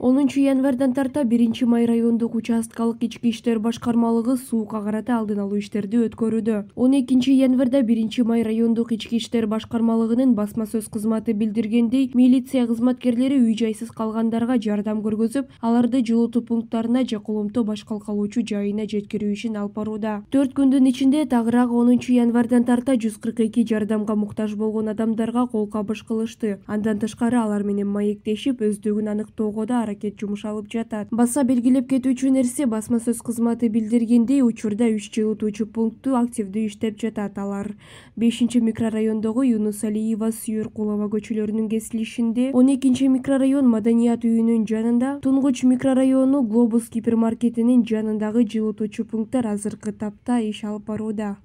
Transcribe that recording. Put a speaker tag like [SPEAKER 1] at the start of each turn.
[SPEAKER 1] 10 январдан тарта 1 Май райондук участкалык ички иштер башкармалыгы сууга карата алдын алуу иштерди өткөрүүдө. 12 январда 1 Май райондук ички иштер башкармалыгынын басма сөз кызматы билдиргендей, милиция кызматкерлери үй-жайсыз калгандарга жардам көргөзүп, аларды жылытуу пункттарына же коломто баш калкалоочу жайына жеткирүү ишин алып барууда. 4 күндүн ичинде тагыраак 10 январдан тарта 142 жардамга муктаж болгон адамдарга кол кабыш кылышты. Андан тышкары алар менен маектешип, өздүгүн аныктоого да аракет жумуш алып жатат. Баса белгилеп кетүүчү нерсе, басма сөз кызматы билдиргендей, учурда 3 жылытуучу пунктту активдүү иштеп жатат. Алар 5-микрорайондогу Юнус Алиева, Сүйөр-Кулова көчөлөрүнүн кесилишинде, 12-микрорайон Маданият үйүнүн жанында, Тунгуч микрорайону Глобус гипермаркетинин жанындагы жылытуучу пункттар азыркы тапта иш алып барууда.